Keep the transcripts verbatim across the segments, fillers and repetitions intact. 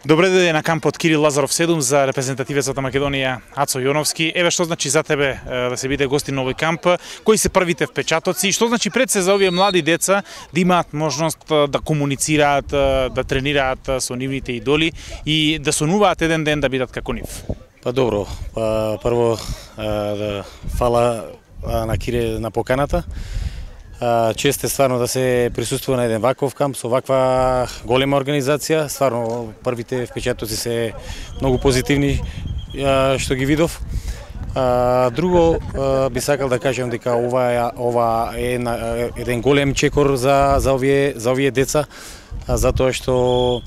Добре дојде на кампот Кирил Лазаров седум за репрезентативецот на Македонија Ацо Јоновски. Еве што значи за тебе да се биде гостин на овој камп, кои се првите впечатоци, што значи пред се за овие млади деца да имаат можност да комуницираат, да тренираат со нивните идоли и да сонуваат еден ден да бидат како нив. Па добро, па прво да фала на Кире на поканата. Чест е стварно да се присуствува на еден ваков камп со ваква голема организација. Стварно првите впечатоци се многу позитивни што ги видов. Друго би сакал да кажам дека ова ова е еден голем чекор за за овие за овие деца, затоа што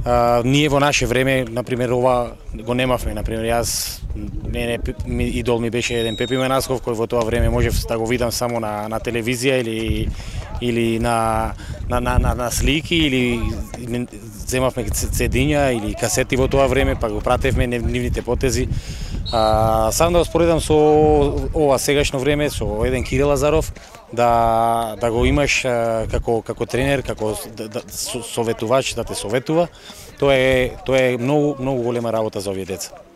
А, ние во наше време, например, ова го немавме. Например, јас, мене идол ми беше еден Пепи Менасков, кој во тоа време можев да го видам само на, на телевизија или или на на на на, на слики, или земавме цедиња или касети во тоа време, па го пратевме нивните потези. А, сам да го споредам со ова сегашно време, со еден Кирил Лазаров, да да го имаш а, како како тренер, како да, да, советувач да те советува, тоа е тоа е многу многу голема работа за овие деца.